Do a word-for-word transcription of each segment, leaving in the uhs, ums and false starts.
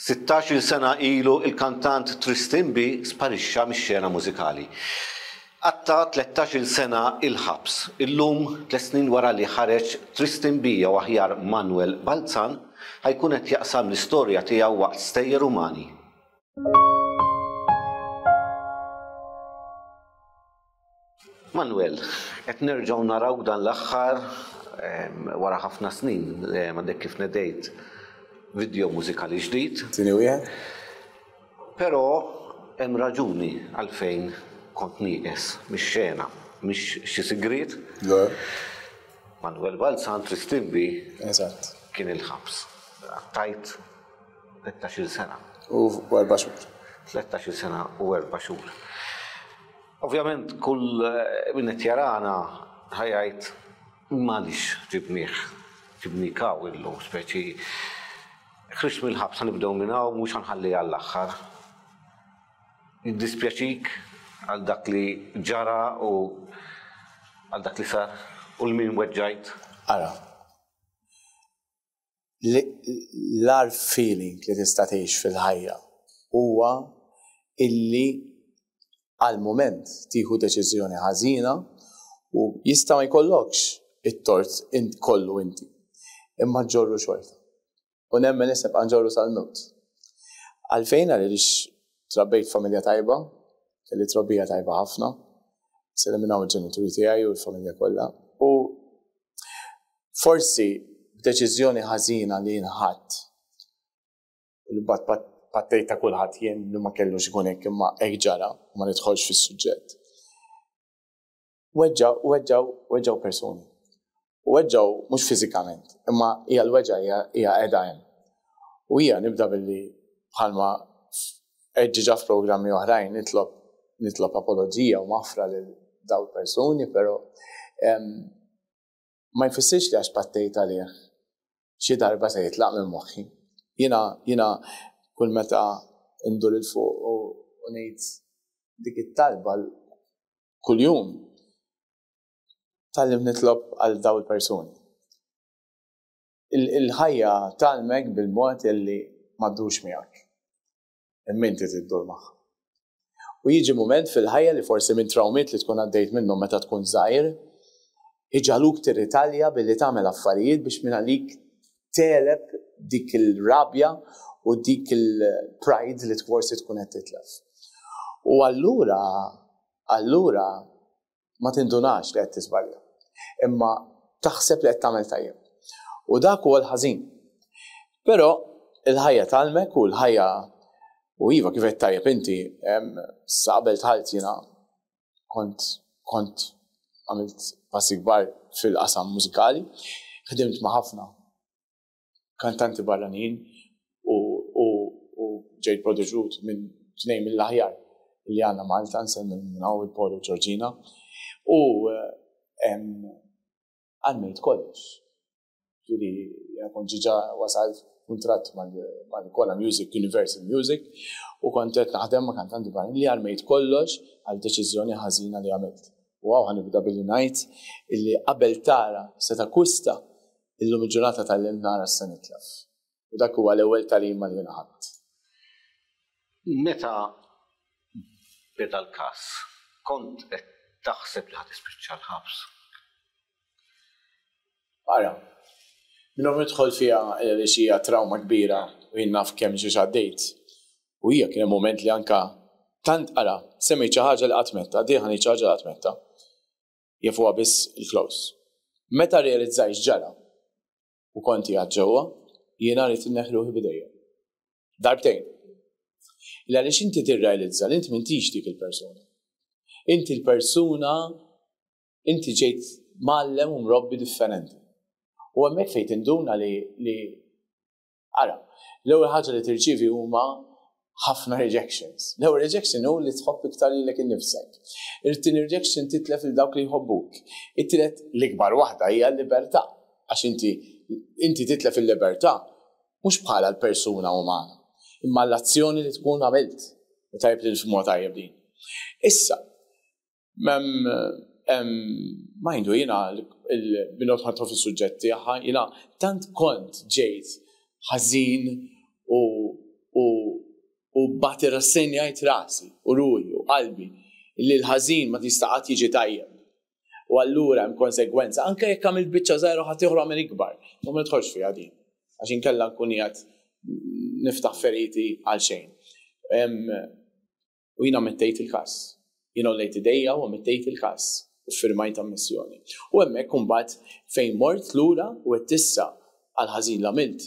Sittax-il sena ilu il-kantant Tristan B sparixxa mix-xena mużikali. Qatta' tlettax-il sena il-ħabs. Illum, tliet snin wara li ħareġ, Tristan B jew aħjar Manuel Balzan ħa jkun qed jaqsam l-istorja tiegħu waqt Stejjer Umani. Manuel, qed nerġgħu narawk dan l-aħħar wara ħafna snin, għandek kif nedejt video mużikali ġdid. Tieni wieħed. Però hemm raġuni għalfejn kont nieqes mix-xena, mhix xi sigriet. Le. Manuel Balzan, Tristan B. Eżatt. Kien il-ħabs. Tajt tlettax-il sena. U erba' xhur. Tlettax-il sena u erba' xhur. Ovvjament kull min qed jarana ħajajt m'għaliex ġibnieh, ġibnik hawn illum, speċi ħriġt mill-ħabs, ħanibdew minn hawn, mhux ħanħalli għall-aħħar. Jiddispjaċik għal dak li ġara u għal dak li sar u l-min weġġajt? Ara, l-ar feeling li tista' tgħix fil-ħajja huwa illi għal mument tieħu deċiżjoni ħażina u jista' ma jkollokx it-tort int kollu inti, imma ġorru xorta. U nemmen issa nibqa' nġorru sal-mewt. Għalfejn? Għaliex trabbejt familja tajba, kelli trobbija tajba ħafna, sellem minn hawn il-ġenituri tiegħi u l-familja kollha. U forsi b'deċiżjoni ħażina li nħadd, u li bat pattejt ta' kulħadd jien li ma kellux ikun hekk imma hekk ġara, u ma nidħolx fis-suġġett. Weġġaw, weġġaw, weġġaw persuni. U weġġaw mhux fiżikament, imma hija l-weġġa hija, hija qiegħda hemm. U hija nibda billi bħalma ġiġa f'programmi oħrajn nitlob, nitlob apoloġija u maħfra lil dawn persuni, però, em, ma jfissirx li għax pattejt għalih xi darba se jitlaq minn moħħi. Jiena, jiena kull meta ndur il fuq u, u ngħid dik it-talba kuljum, tgħallimt nitlob għal dawn il-persuni. Il-, il-ħajja tgħallmek bil-mod illi ma ddurx miegħek, imma inti tiddur magħha. U jiġi mument fil-ħajja li forsi minn trawmiet li tkun għaddejt minnhom meta tkun żgħir, iġaluk tirritalja billi tagħmel affarijiet biex minn għalik teleb dik il-rabja u dik il-pride li forsi tkun qed titlef. U allura, allura ma tindunax li qed tiżbalja, imma taħseb li qed tagħmel tajjeb. U dak huwa l-ħażin. Però il-ħajja tgħallmek u l-ħajja u iva kif qed tajjeb inti, em, sa qabel dħalt jiena kont, kont għamilt passi kbar fil-qasam mużikali, ħdimt ma' ħafna kantanti barranin u, u, u ġejt prodeġut minn tnejn mill-aħjar li għandna Malta, nsemmi minn hawn il-Paul u Georgina, u, em, għalmejt kollox. Ġifieri, jiena kont ġiġa wasalt kuntratt mal-, mal-Kola Music, Universal Music, u kont qed naħdem ma' kantanti barranin li għalmejt kollox għal deċiżjoni ħażina li għamilt. U hawn ħanibda billi ngħid illi qabel tara se takkwista, illum il-ġurnata tal-lum nara se nitlef. U dak huwa l-ewwel tagħlima li jiena ħadt. Meta beda l-każ, kont qed taħseb li ħa tispiċċa l-ħabs? Ara, minnhom nidħol fiha li xi hija trawma kbira u jien naf kemm ġiex għaddejt. U hija kien hemm mument li anka tant ara, semmejt xi ħaġa li qatt metta, dieħa ngħid xi ħaġa li qatt metta. Jafuha biss il-close. Meta realizzajt ġara u kont qiegħed ġewwa, jiena rrid inneħħi ruħi bidejja. Darbtejn. Il għaliex inti tirrealizza li inti m'intix dik il-persuna. Inti l-persuna, inti ġejt mgħallem u mrobbi differenti. U hemmhekk fejn tinduna li, li ara, l-ewwel ħaġa li tirċievi huma ħafna rejections. L-ewwel rejection hu li tħobb iktar lilek innifsek. It-tieni rejection titlef lil dawk li jħobbuk. It-tielet l-ikbar waħda hija l-libertà, għax inti, inti titlef il-libertà mhux bħala l-persuna umana, imma l-azzjoni li tkun għamilt. U tajjeb li nifhmuha tajjeb din. Issa, mem, em, ma jindu jiena il-minot ħadtu fis-suġġetti, aħħa, jiena tant kont ġejt ħażin u, u U mbagħad irrassenjajt rasi u ruħi u qalbi li l-ħażin ma tista' qatt jiġi tajjeb. U allura hemm konsegwenza, anke jekk għamilt biċċa żgħira u ħadd għamel ikbar, ma nidħolx fiha din. Għax inkella nkun qiegħed niftaħ feriti għal xejn. U jiena ammettejt il-każ. Jiena għollejt idejja u ammettejt il-każ u firmajt ammissjoni. U hemmhekk imbagħad fejn mort lura u għedt issa għal ħażin l-għamilt.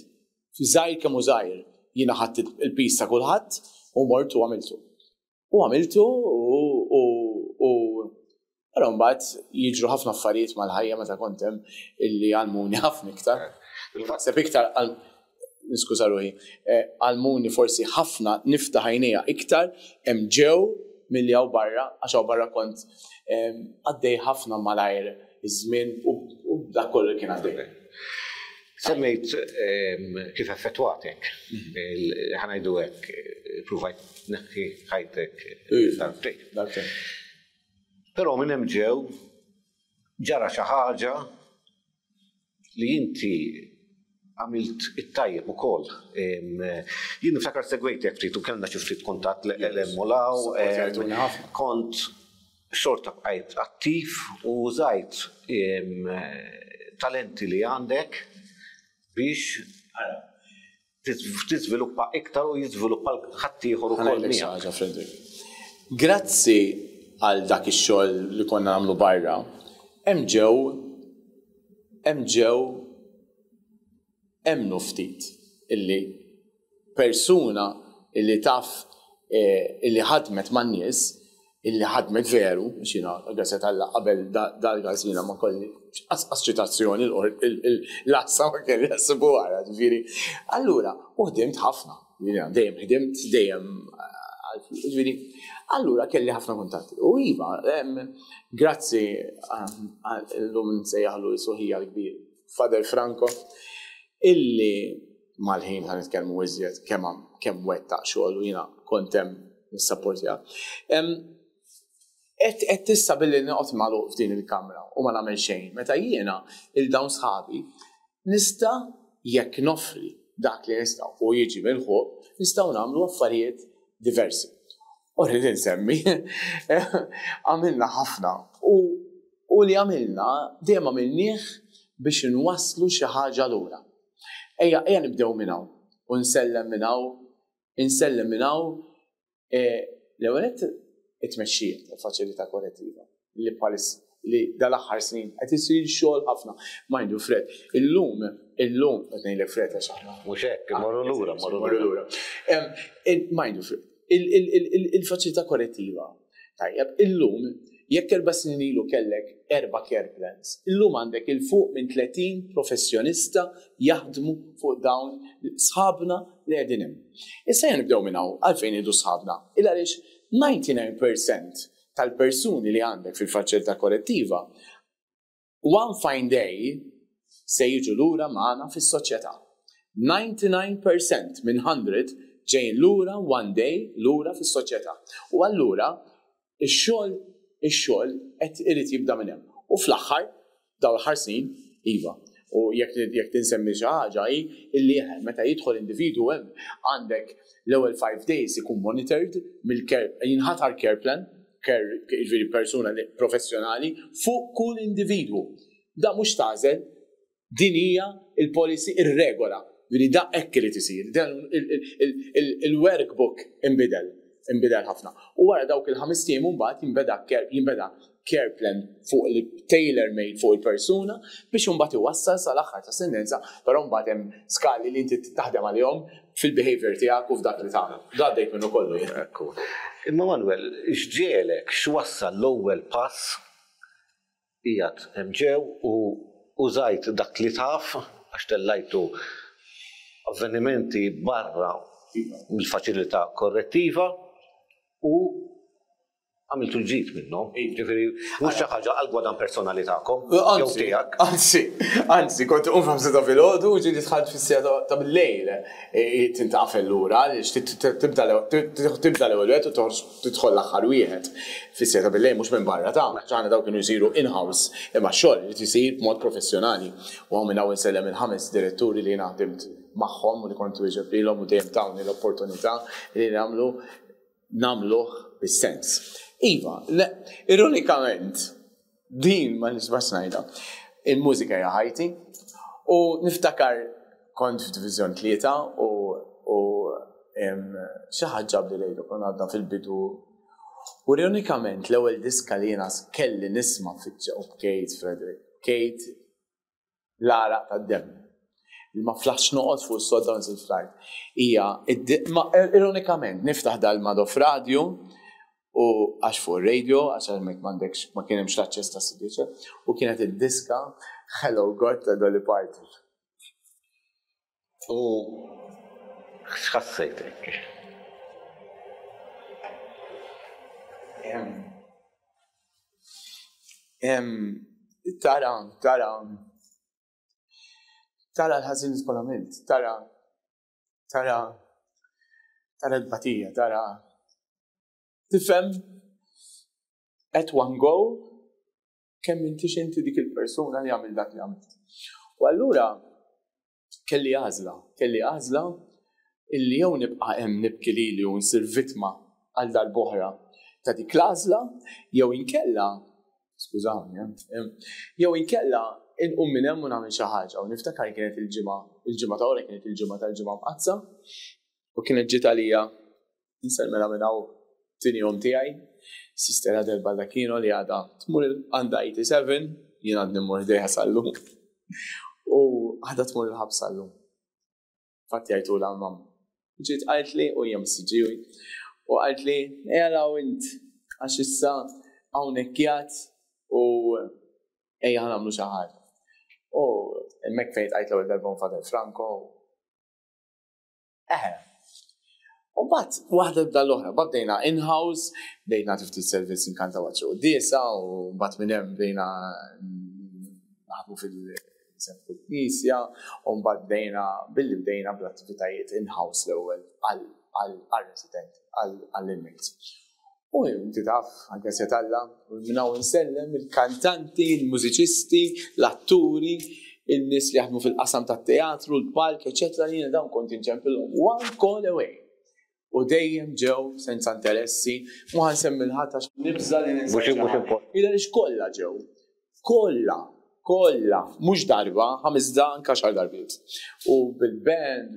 Żgħir kemm hu żgħir, jiena ħadt il-piż ta' kulħadd u mort u għamiltu. U għamiltu u u Però mbagħad jiġru ħafna affarijiet mal-ħajja meta kont hemm illi għallmuni ħafna iktar. Naħseb iktar niskuża ruħi, għallmuni forsi ħafna niftaħ għajnejja iktar hemm ġew milli hawn barra, għax hawn barra kont għaddej ħafna malajr iż-żmien u dak kollu kien għaddej. Semmejt kif effettwatek, ħa ngħidu hekk, provajt tneħħi ħajtek darbtejn. Però minn hemm ġew ġara xi ħaġa li inti għamilt it-tajjeb ukoll. Jien niftakar segwejtek ftit u kellna xi ftit kuntatt l-emmolaw, kont xorta bqajt attiv u użajt talenti li għandek biex tiżviluppa iktar u jiżviluppa ħaddieħor ukoll miegħek. Grazzi għal dak ix-xogħol li konna nagħmlu barra, hemm ġew hemm ġew emmnu ftit illi persuna illi taf illi ħadmet man-nies, illi ħadmet veru, biex jiena grazzi t'Alla qabel dal-każ jiena ma kelli anqas ċitazzjoni l-għassa ma kelli jassibu wara, ġifieri. Allura, u ħdimt ħafna, dejjem ħdimt, dejjem ġifieri, allura kelli ħafna kuntatti. U iva, grazzi l-lum nsejjaħlu ħija l-kbir, Father Franco, illi mal-ħin ħa nitkellmu iżjed kemm kemm wettaq xogħol u jiena kont hemm nissapportja. Qed tista' billi noqgħod magħluq f'din il-kamra u ma nagħmel xejn, meta jiena il dawn sħabi nista' jekk noffri dak li nista' u jiġi mill-ħuq, nistgħu nagħmlu affarijiet diversi. U rrid insemmi, għamilna ħafna u u li għamilna dejjem għamilnieh biex nwasslu xi ħaġa lura. Ejja, ejja nibdew minn hawn u nsellem minn hawn, insellem minn hawn l-ewwel it-tmexxija tal-faċilità korrettiva li bħalis li dal-aħħar snin qed isir xogħol ħafna. Mind you, Fred, illum, illum qed ngħidlek Fred għax aħna. Mhux hekk, imorru lura, morru lura. Mind you, Fred, il-faċilità korrettiva. Tajjeb, illum jekk erba' snin ilu kellek erba' care plans, illum għandek 'il fuq minn tletin professjonista jaħdmu fuq dawn sħabna li qegħdin hemm. Issa ejja nibdew minn hawn, għalfejn ngħidu sħabna? Il għaliex disgħa u disgħin fil-mija tal-persuni li għandek fil-faċilità korrettiva one fine day se jiġu lura magħna fis-soċjetà. disgħa u disgħin fil-mija minn mija ġejjin lura one day lura fis-soċjetà. U allura ix-xogħol ix-xogħol qed irid jibda minn hemm. U fl-aħħar dawn l-aħħar snin iva. U jekk jekk tinsemmi xi ħaġa hi illi meta jidħol individwu hemm għandek l-ewwel five days ikun monitored mill-care, jinħatar care plan, care jiġifieri persuna professjonali fuq kull individwu. Da mhux tagħżel, din hija il-policy, ir-regola. Ġifieri da hekk irid isir. Dan il-workbook inbidel, inbidel ħafna. U wara dawk il-ħames ijiem mbagħad jinbeda care, jinbeda care plan fuq il-tailor made fuq il-persuna biex imbagħad iwassal sal-aħħar ta' sentenza, però mbagħad hemm skali li inti taħdem għalihom fil-behavior tiegħek u f'dak li tagħmel. Da għaddejt minnu kollu jien. Ekku. Imma Manuel, x'ġiegħlek, x'wassal l-ewwel pass qiegħed hemm ġew u użajt dak li taf għax tellajtu avvenimenti barra mill-faċilità korrettiva u Għamiltu l-ġid minnhom. Ġifieri mhux xi ħaġa għal gwadan personali tagħkom. Jew tiegħek. Anzi, anzi, kont inqum f'ħamsa ta' filgħodu u ġieli dħalt fis-siegħa ta' bil-lejl. Tintaqfel lura għaliex tibda l-ewwel wieħed u toħroġ tidħol l-aħħar wieħed. Fis-siegħa ta' bil-lejl mhux minn barra ta' aħna dawn kienu jsiru in-house, imma x-xogħol irid isir b'mod professjonali. U hawn minn hawn insellem il-ħames diretturi li jiena ħdimt magħhom u li kont wieġeb lilhom u dejjem tawni l-opportunità li nagħmlu nagħmluh bis-sens. Iva, ironikament, din ma nisbax ngħidha, il-mużika hija ħajti u niftakar kont f'Diviżjon tlieta u xi ħadd ġabli lejlu konna għadna fil-bidu u ironikament l-ewwel diska li jiena kelli nisma' fiċ u bkejt Frederick, bkejt l-għaraq tad-demm. Ma flaħx noqgħod fuq is-sodda u nżilt fl-art. Hija, ironikament, niftaħ dal-Madoff Radio u għax fuq radio, għax hemmhekk m'għandekx ma kien hemmx l-aċċess ta' C D, u kienet id-diska Hello God ta' Dolly Parton. U x'ħassejtek? Tara, tara, tara l-ħażin li tkun għamilt, tara, tara, tara l-batija, tara. Tifhem at one go kemm intix inti dik il-persuna li għamil dak li għamilt. U allura kelli għażla, kelli għażla illi jew nibqa' hemm nibki lili u nsir vittma għal darb'oħra ta' dik l-għażla, jew inkella, skużawni, jew inkella inqum minn hemm u nagħmel xi ħaġa. U niftakar kienet il-ġimgħa, il-ġimgħa ta' wara kienet il-ġimgħa tal-Ġimgħa Mqaddsa u kienet ġiet għalija nsellmilha minn hawn tieni jum tiegħi, Sister Adel Baldacchino li għadha tmur għandha eighty-seven, jien għadni mmur ħdejha sal-lum. U għadha tmur il-ħabs sal-lum. Fatti għajtulha mam. Ġiet qaltli u hija mis-Siġġiewi. U qaltli, ejja int, għax issa hawnhekk qiegħed u ejja ħa nagħmlu xi ħaġa. U hemmhekk fejn tqajt l-ewwel darba Father Franco. Eħe. U mbagħad waħda bda l-oħra, mbagħad bdejna in-house, bdejna ftit servizz inkantaw għal xi quddiesa u mbagħad minn hemm bdejna naħdmu fil-knisja u mbagħad bdejna billi bdejna bl-attivitajiet in-house l-ewwel għal-residenti, għall-inmates. U inti taf, anke se talla, minn hawn insellem il-kantanti, il-mużiċisti, l-atturi, il-nies li jaħdmu fil-qasam tat-teatru, l-palk, eċetera, jiena dawn kont inċempilhom one call away. U dejjem ġew senza interessi, mu ħa nsemmi l-ħadd għax nibża' li ninsa. Mhux mhux important. Illa lix kollha ġew. Kollha, kollha, mhux darba, ħames da anke xar darbiet. U bil-band,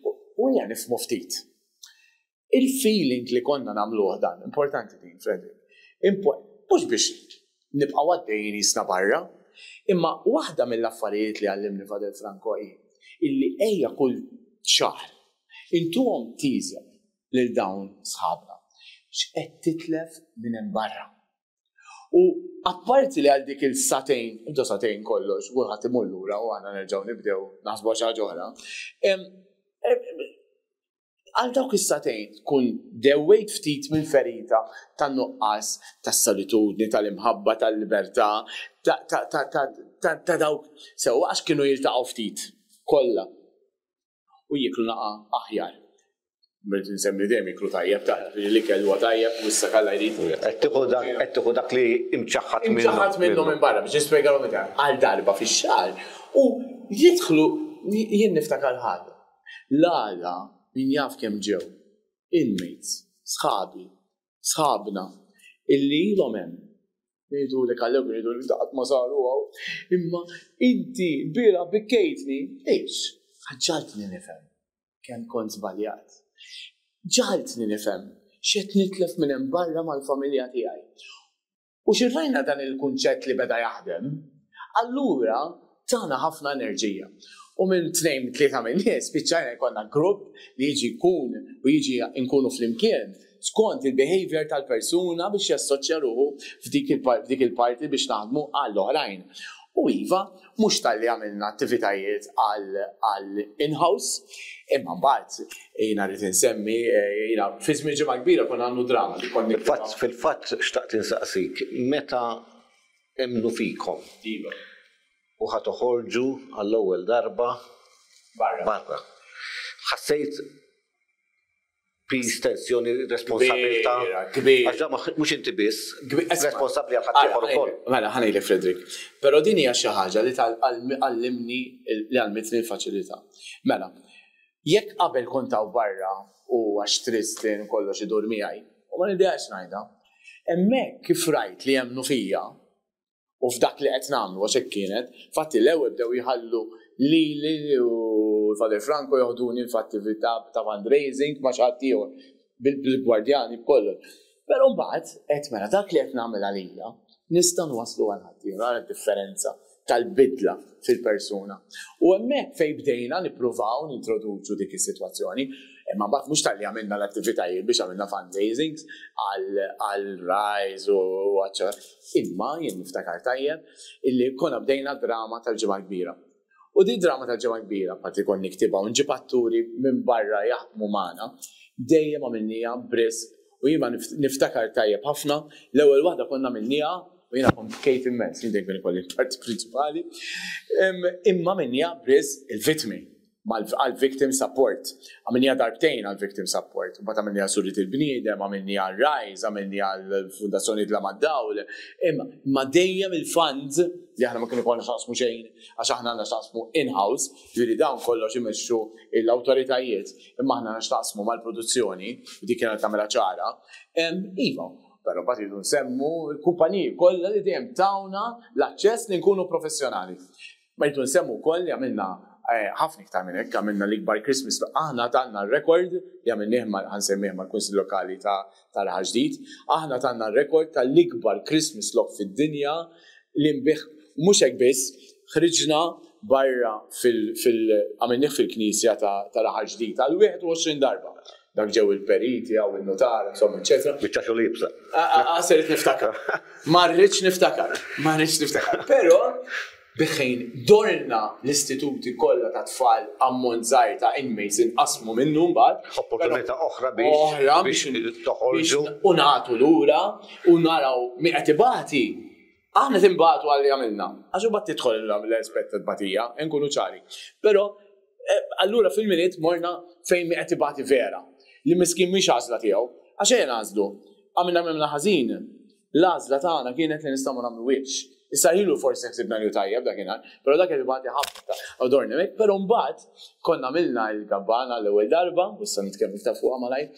u hija nifhmu ftit. Il-feeling li konna nagħmluh dan, importanti din, Frederick. Mhux biex nibqgħu għaddejjin jisna barra, imma waħda mill-affarijiet li għallimni Father Franco hi illi ejja kull xahar intuhom teaser lil dawn sħabna. X'qed titlef minn hemm barra. U apparti li għal dik il-satejn, intu satejn kollox, kulħadd imur lura u aħna nerġgħu nibdew naħsbu xi ħaġa oħra. Għal dawk is-satejn tkun dewwejt ftit mill-ferita tan-nuqqas, tas-solitudni, tal-imħabba, tal-libertà, ta' dawk sewwa għax kienu jiltaqgħu ftit kollha u jieklu naqa' aħjar. Mrid nsemmi dejjem jiklu tajjeb ta' li l-ikel huwa tajjeb u issa kalla jrid. Qed tieħu dak, qed tieħu dak li imċaħħad minnu. Imċaħħad minnu minn barra biex nispjegalhom iktar għal darba fix-xahar u jidħlu jien niftakar ħaġa. L-għada min jaf kemm ġew inmates, sħabi, sħabna illi ilhom hemm. Jgħidu li kallew, jgħidu li daqt ma saru hawn. Imma inti bira bikkejtni, ix, ħaġġaltni nifhem kemm kont żbaljat. Ġaltni nifhem x'qed nitlef minn hemm barra mal-familja tiegħi. U xirrajna dan il-kunċett li beda jaħdem, allura tana ħafna enerġija. U minn tnejn, tlieta minn nies, spiċċajna jkollna grupp li jiġi jkun u jiġi nkunu flimkien skont il-behavior tal-persuna biex jassoċja ruħu f'dik il-parti biex naħdmu għall-oħrajn. U iva, mhux talli għamilna attivitajiet għal in-house, imma mbagħad jiena rrid insemmi, jiena fi żmien Ġimgħa Kbira konna għandu drama li konna Fil-fatt, fil-fatt xtaqt insaqsik, meta emmnu fikom Iva. u ħa toħorġu għall-ewwel darba Barra. barra. Ħassejt piż, tensjoni, responsabilità. Kbira, kbira. Għax da mhux inti biss, Kbi- Isma'. responsabbli għal ħaddieħor ukoll. Mela, ħa ngħidlek, Frederick. Però din hija xi ħaġa li għallimni li għallmitni l-faċilità. Mela, jekk qabel kont hawn barra u għax Tristan kollox idur miegħi, u ma niddejjaqx ngħidha, hemmhekk kif rajt li jemmnu fija u f'dak li qed nagħmlu, għax hekk kienet, fatti l-ewwel bdew jħallu lili u Father Franco joħduni f'attività ta' fundraising ma' xi ħadd ieħor bil-gwardjani b'kollox. Però mbagħad qed mela dak li qed nagħmel għalija nista' nwasslu għal ħadd ieħor, differenza tal-bidla fil-persuna. U hemmhekk fejn bdejna nippruvaw nintroduċu dik is-sitwazzjoni, imma mbagħad mhux talli għamilna l-attivitajiet biex għamilna fundraisings għal Rise u għacċa. Imma jien niftakar tajjeb illi konna bdejna drama tal-Ġimgħa Kbira. U di drama tal-Ġimgħa Kbira, parti kon niktibha u nġib atturi minn barra jaħdmu magħna, dejjem għamilniha b'risq u jien niftakar tajjeb ħafna, l-ewwel waħda konna għamilniha u jiena kont bkejt immens, jien dejjem ikolli parti prinċipali, imma għamilniha b'risq il-vittmi għal-victim support. Għamilniha darbtejn għal-victim support. Mbagħad għamilniha Suriet il-Bniedem, għamilniha għal-Rise, għamilniha għal-Fundazzjoni Dlam għad-Dawl. Imma ma dejjem il-funds li aħna ma kienu konna xaqsmu xejn, għax aħna għandna xaqsmu in-house, ġifieri dawn kollox imexxu l-awtoritajiet, imma aħna għandna xaqsmu mal-produzzjoni, u dik kienet tagħmilha ċara. Iva, però mbagħad iridu nsemmu l-kumpaniji kollha li dejjem tawna l-aċċess li nkunu professjonali. Ma rridu nsemmu wkoll li għamilna ħafna iktar minn hekk, għamilna l-ikbar Christmas, aħna tanna r-rekord li għamilnieh ħa nsemmih mal-Kunsill Lokali ta' Raħal Ġdid, aħna tanna r-rekord tal-ikbar Christmas log fid-dinja li nbigħ, mhux hekk biss, ħriġna barra għamilnieh fil-knisja ta' Raħal Ġdid għal wieħed u għoxrin darba. Dak ġew il-periti għaw il-notar, insomma, eccetera. Biċċa xogħol iebsa. Għaserit niftakar. Ma rridx niftakar. Ma rridx niftakar. Però biħejn dorna l-istituti kollha ta' tfal ammont żgħir ta' inmates inqasmu minnu mbagħad. Opportunità oħra biex Oħra biex toħorġu. U nagħtu lura u naraw mi qed ibati. Aħna timbatu għalli għamilna. Għax u bat tidħol l-aspett ta' nkunu ċari. Però allura fil-minit morna fejn mi qed ibati vera. Li miskin mhix għażla tiegħu. Għax ejja nagħżlu. Għamilna għamilna ħażin. L-għażla tagħna kienet li nistgħu nagħmlu wiċċ. Issa ilu forsi ħsibna li tajjeb dakinhar, però dak qed ibati ħafna għadorni mek, però mbagħad konna għamilna l-kabbana l-ewwel darba, u issa nitkellmu ftit fuqha malajr,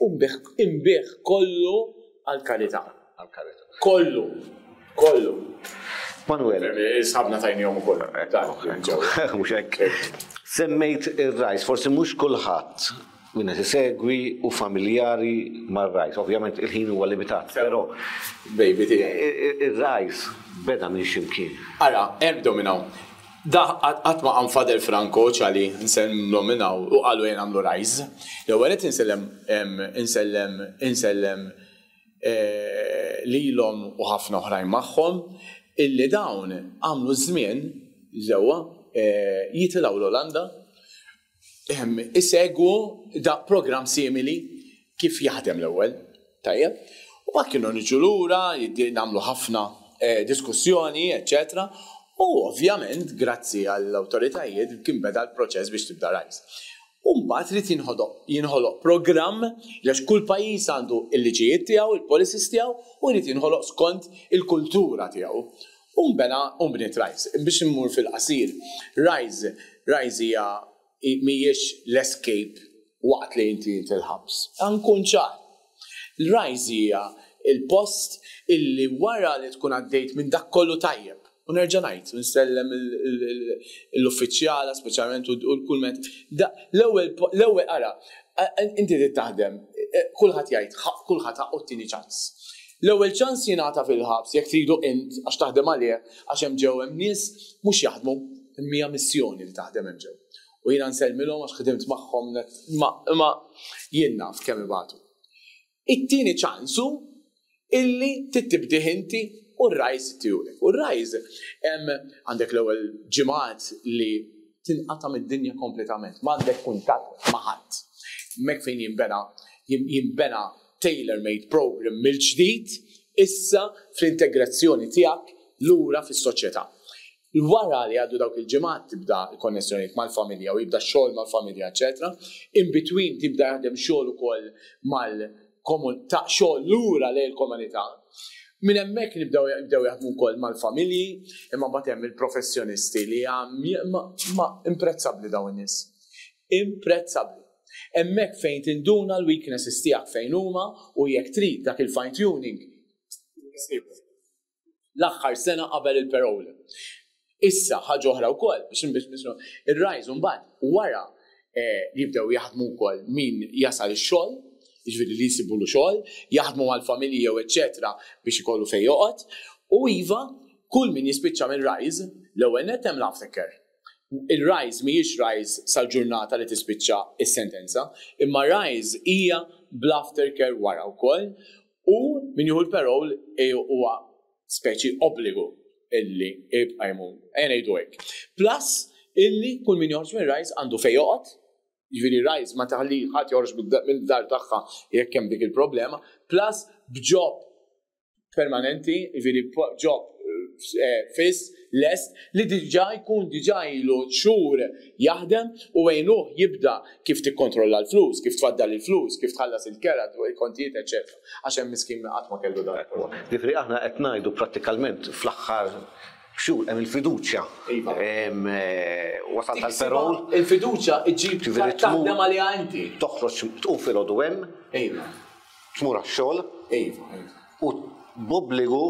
u nbigħ kollu għall-karità. Għall-karità. Kollu, kollu. Manuel. Sħabna tajnihom ukoll. Mhux hekk. Semmejt ir-Rise, forsi mhux kulħadd min qed isegwi u familjari mar-Rise. Ovvjament il-ħin huwa limitat, però Baby tiegħi. Ir-Rise beda minn x'imkien. Ara, ebdew minn hawn. Da qatt ma qam Father Franco ċali nsellem minn hawn u qalu jien għamlu Rise. L-ewwel qed insellem insellem insellem lilhom u ħafna oħrajn magħhom illi dawn għamlu żmien ġewwa jitilgħu l-Olanda, isegwu da program simili kif jaħdem l-ewwel, tajjeb. U mbagħad kienu niġu lura, nagħmlu ħafna diskussjoni, eċċetera. U ovvjament, grazzi għall-awtoritajiet, kien beda l-proċess biex tibda Rise. U mbagħad trid jinħoloq programm għax kull pajjiż għandu il-liġijiet tiegħu, il-policies tiegħu, u jrid jinħoloq skont il-kultura tiegħu. U mbena u mbniet Rise. Biex immur fil-qasir, Rise, Rise hija mhijiex l-escape waqt li inti il-ħabs. Nkun ċar. Rise hija il-post illi wara li tkun għaddejt minn dak kollu tajjeb. U nerġa' ngħid, nsellem l-uffiċjala speċjalment u l-kulment. L-ewwel l-ewwel ara, inti trid taħdem, kulħadd jgħid, kulħadd ħaqqu t-tieni ċans. L-ewwel ċans jingħata fil-ħabs jekk tridu int għax taħdem għalih, għax hemm ġew hemm nies mhux jaħdmu, imma missjoni li taħdem hemm ġew. U jiena nsellmilhom għax ħdimt magħhom, imma jien naf kemm ibatu. It-tieni ċansu illi tittibdih inti U r-Rise tijulek. U r-Rise għandek l-ewwel ġimgħat li tinqata' mid-dinja kompletament. M'għandek kuntatt ma' ħadd. Mek fejn jinbena jinbena tailor-made program mill-ġdid issa fl-integrazzjoni tiegħek lura fis-soċjetà. Wara li għaddu dawk il-ġimgħat tibda l-konnessjonijiet mal-familja u jibda xogħol mal-familja, eċetera. In between tibda jaħdem xogħol ukoll mal-komunità, xogħol lura lejn il-komunità. Minn hemmhekk nibdew jibdew jaħdmu wkoll mal-familji, imma mbagħad hemm il-professjonisti li ma imprezzabbli dawn in-nies. Imprezzabbli. Hemmhekk fejn tinduna l-weaknesses tiegħek fejn huma u jekk trid dak il-fine tuning l-aħħar sena qabel il-parole. Issa ħaġa oħra wkoll biex biex ir-Rise mbagħad wara jibdew jaħdmu wkoll min jasal ix-xogħol, jiġifieri li jsibulu xogħol, jaħdmu mal-familji jew eċetera biex ikollu fejn joqgħod. U iva, kull min jispiċċa minn Rise, l-ewwel nett hemm l-aftercare. Il-Rise mhijiex Rise sal-ġurnata li tispiċċa is-sentenza, imma Rise hija bl-aftercare wara wkoll u min jieħu l-parole huwa speċi obbligu illi jibqa' jmur. Ejja ngħidu hekk. Plus illi kull min joħroġ minn Rise għandu fejn joqgħod, jiġifieri Rise ma taħli ħadd joħroġ mid-dar tagħha jekk hemm dik il-problema, plus b'job permanenti, jiġifieri job fiss, lest, li diġà jkun diġà ilu xhur jaħdem u għinuh jibda kif tikkontrolla l-flus, kif tfaddal il-flus, kif tħallas il-kera, il-kontijiet, eċetera. Għax hemm miskin qatt ma kellu dan. Ġifieri aħna qed ngħidu prattikalment fl-aħħar xhur hemm il-fiduċja. Iva. Wasal tal-parole. Il-fiduċja iġġib taħdem għaliha inti. Toħroġ tqum filgħodu hemm. Iva. Tmur għax-xogħol. Iva, iva. U b'obbligu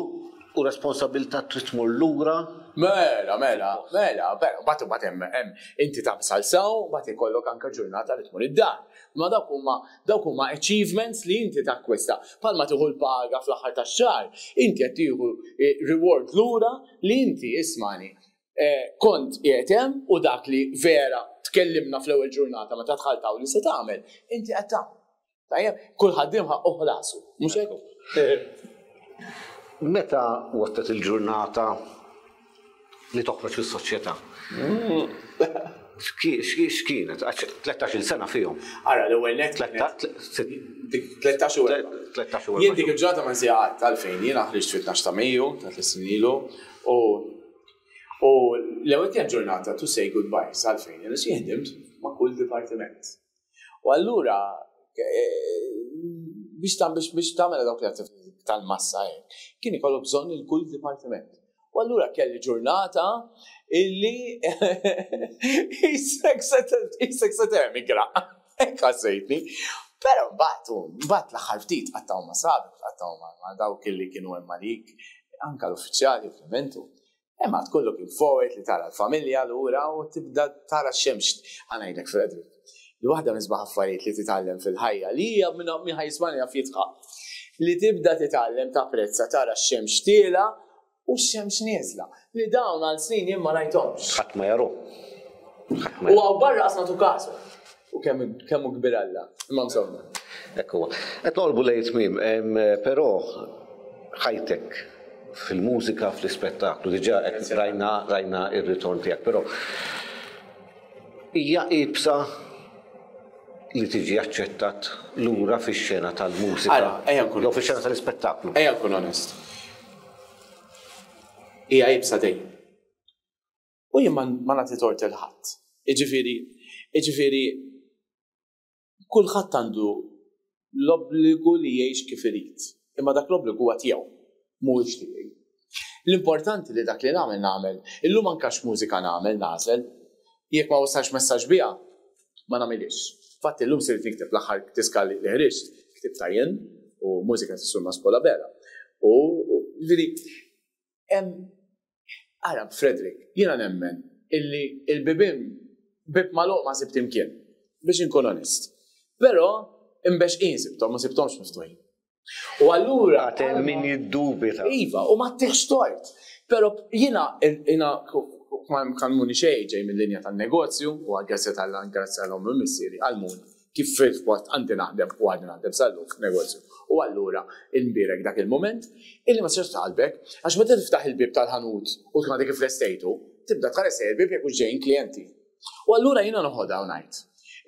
u responsabilità trid tmur lura. Mela, mela, mela, però bat bat hemm hemm inti tagħmel sew, bat ikollok anke ġurnata li tmur id-dar. Ma dawk huma dawk huma achievements li inti takkwista. Palma tieħu l-paga fl-aħħar tax-xahar, inti qed tieħu reward lura li inti ismani kont qiegħed hemm u dak li vera tkellimna fl-ewwel ġurnata meta dħalt hawn li se tagħmel, inti qed tagħmel. Tajjeb, kull ħaddiem ħaqqu ħlasu, mhux hekk? Meta waslet il-ġurnata li toħroġ fis-soċjetà? X'kienet? tlettax-il sena fihom. Ara, l-ewwel nett tlettax u erba'. Tlettax u erba'. Jien dik il-ġurnata ma nsejha qatt għalfejn jiena ħriġt fit-tnax ta' Mejju ta' tliet snin ilu u u l-ewwel kienet ġurnata to say goodbye għalfejn jiena xi ħdimt ma' kull dipartiment. U allura biex biex biex tagħmel dawk l-attivitajiet tal-massa hekk, kien ikollu bżonn il-kull dipartiment. U allura kelli ġurnata illi isek se temigra. Hekk ħassejtni. Però mbagħad mbagħad l-aħħar ftit qattgħu ma' sabi, qattgħu ma' dawk illi kienu hemm għalik, anke l-uffiċjali ovvjament. Imma tkun looking forward li tara l-familja lura u tibda tara x-xemx. Ħa ngħidlek Frederick, li waħda minn sbaħ affarijiet li titgħallem fil-ħajja li hija minn ħajsmani jaf jitħaq. Li tibda titgħallem tapprezza tara x-xemx tiela u x-xemx nieżla. Li dawn għal snin jien ma rajthomx. Ħadd ma jaru. U għaw barra qas nagħtu kasu. U kemm kemm hu kbir Alla. Imma insomma. Hekk huwa. Qed noqorbu lejn tmiem, però ħajtek fil-mużika, fl-ispettaklu, diġà qed rajna rajna ir-ritorn tiegħek, però hija iebsa li tiġi aċċettat lura fix-xena tal-mużika. Ara, ejja nkun Jew fix-xena tal-ispettaklu. Ejja nkun onest. Hija iebsa dejjem. U jien ma nagħti tort il ħadd. Jiġifieri, jiġifieri kulħadd għandu l-obbligu li jgħix kif irid. Imma dak l-obbligu huwa tiegħu, mhuwiex tiegħi. L-importanti li dak li nagħmel nagħmel. Illum anke x'mużika nagħmel nagħżel. Jekk ma wasalx messaġġ biha, ma nagħmilix. Infatti llum sirt nikteb l-aħħar diska li ħriġt, ktibta jien u mużika ta' Mas Paul Abela. U ġifieri hemm ara Frederick, jiena nemmen illi il-bibien bib magħluq ma sibt imkien, biex inkun onest. Però imbexqin sibthom, ma sibthomx miftuħin. U allura Għad hemm min jiddubita. Iva, u ma tieħx tort. Però jiena jiena ma kalmuni xejn ġej mill-linja tan-negozju u għal-grazzja tal-grazzja l-omm u missieri għallmuni Kif fil-waqt għandi naħdem u għandi naħdem sal-lum f'negozju. U allura nbierek dak il-moment illi ma tistax qalbek, għax meta tiftaħ il-bib tal-ħanut u tkun għadek flestejtu, tibda tħares il-bib jekk ġejjin klijenti. U allura jiena noħodha u ngħid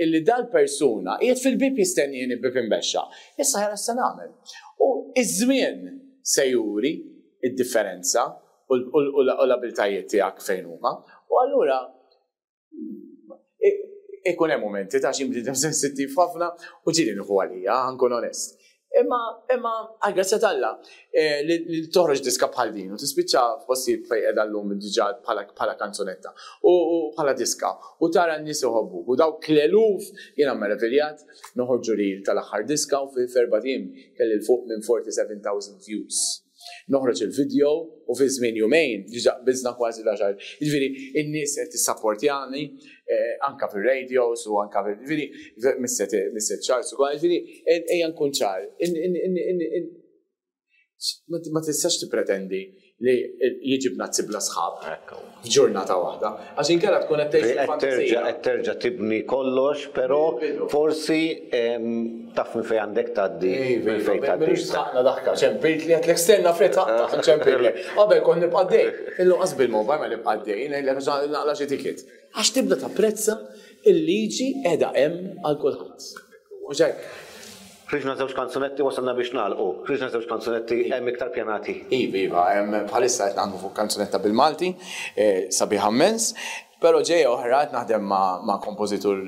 illi dal-persuna qiegħed fil-bib jistennieni bib imbexxa. Issa ħara se nagħmel. U iż-żmien se juri id-differenza u l-abiltajiet tiegħek fejn huma. U allura ikun hemm momenti ta' xi bniedem sensittiv ħafna u ġieli nieħu għalija, nkun onest. Imma imma għal t'Alla li toħroġ diska bħal din u tispiċċa f'postijiet fejn qiegħda llum diġà bħala kanzunetta u bħala diska u tara n-nies iħobbuk u dawk l-eluf jiena meraviljat noħorġu reel tal-aħħar diska u fil-erbat ijiem kelli 'l fuq minn forty-seven thousand views. Noħroġ il-video u fi żmien jumejn diġà biżna kważi l-għaxar. Jiġifieri in-nies qed tissapportjani anka fir-radios u anka fil ġifieri Mister Charles ukoll, jiġifieri ejja nkun ċar. Ma tistax tippretendi li jiġi bnazzi bla sħab f'ġurnata waħda. Għax inkella tkun qed tgħix fil-fantasija. Qed terġa' tibni kollox, però forsi taf minn fejn għandek tgħaddi. Minn fejn tgħaddi. Mhux saqna daħka, ċempilt li qed l-esterna fret taqta' ċempilt. Qabel kont nibqa' dej. Illum qas bil-mobile ma nibqa' dej, ngħidlek għax naqla' xi ticket. Għax tibda tapprezza il-liġi qiegħda hemm għal kulħadd. Mhux hekk? Ħriġna żewġ kanzunetti, wasalna biex nagħlqu. Ħriġna żewġ kanzunetti, hemm iktar pjanati? Iva, iva, hemm bħalissa qed naħdmu fuq kanzunetta bil-Malti, sabiħa immens, però ġejja oħra, qed naħdem ma' kompożitur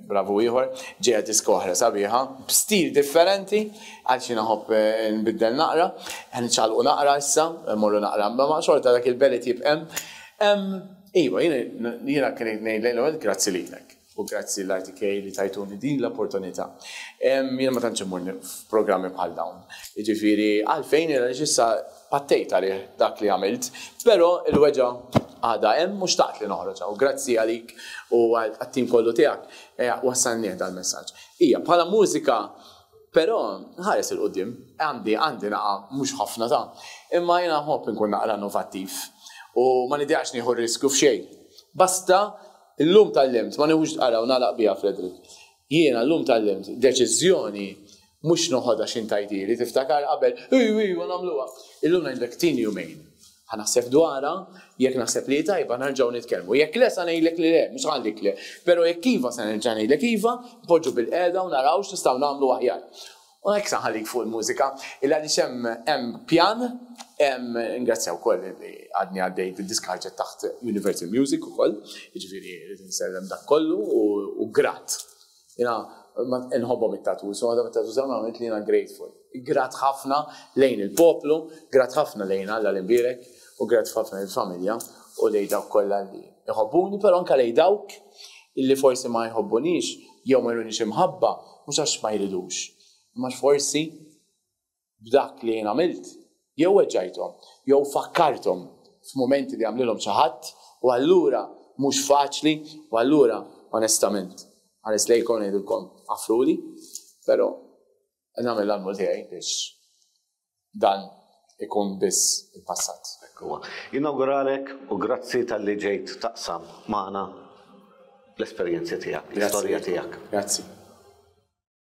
bravu ieħor, ġejja diska oħra sabiħa, b'stil differenti, għal xi naħobb nbiddel naqra, qed niċċaqalqu naqra issa, mmorru naqra, ma xorta dak il-belit jibqa' hemm. Iva, jiena kien ngħid grazzi lilek. U grazzi l-R T K li tajtuni din l-opportunità. Jiena ma tantx immur f'programmi bħal dawn. Jiġifieri għalfejn għaliex issa pattejt għalih dak li għamilt, però il-weġgħa għadha hemm u xtaqt li noħroġha. U grazzi għalik u għat-tim kollu tiegħek wassalnieh dal-messaġġ. Ija, bħala mużika, però ħares 'il quddiem, għandi għandi naqa mhux ħafna ta' imma jiena nħobb inkun naqra innovattiv u ma nidejaqx nieħu riskju f'xejn. Basta illum tgħallimt, ma nieħux ara u nagħlaq biha, Frederick. Jiena llum tgħallimt deċiżjoni mhux noħodha x'intajtili, tiftakar qabel, ej, ej, u nagħmluha. Illum ngħidlek tini jumejn. Ħa naħseb dwarha, jekk naħseb li tajba nerġgħu nitkellmu. Jekk le sa ngħidlek li le, mhux għandek le. Però jekk iva se nerġa' ngħidlek iva, npoġġu bil-qiegħda u naraw x'nistgħu nagħmlu aħjar. U hekk sa nħallik fuq il-mużika, illa għaliex hemm hemm pjan, hemm ingrazzja wkoll li għadni għaddej id-diska ħarġet taħt Universal Music ukoll, jiġifieri rrid insellem dak kollu u grat. Jiena nħobbhom it-tattoos, u għadhom it-tattoos għamilt li jiena grateful. Grat ħafna lejn il-poplu, grat ħafna lejn Alla l-imbierek, u grat ħafna lill-familja u lejn dawk kollha li jħobbuni, però anke lejn dawk illi forsi ma jħobbunix jew ma jrunix imħabba, mhux għax ma jridux. Imma forsi b'dak li jien għamilt, jew weġġajthom, jew fakkarthom f'mumenti li għamlilhom xi ħadd, u allura mhux faċli, u allura onestament ħares lejkom ngħidilkom għafruli, però nagħmel l-almu tiegħi biex dan ikun biss il-passat. Inauguralek u grazzi talli ġejt taqsam magħna l-esperjenzi tiegħek, l-istorja tiegħek. Grazzi.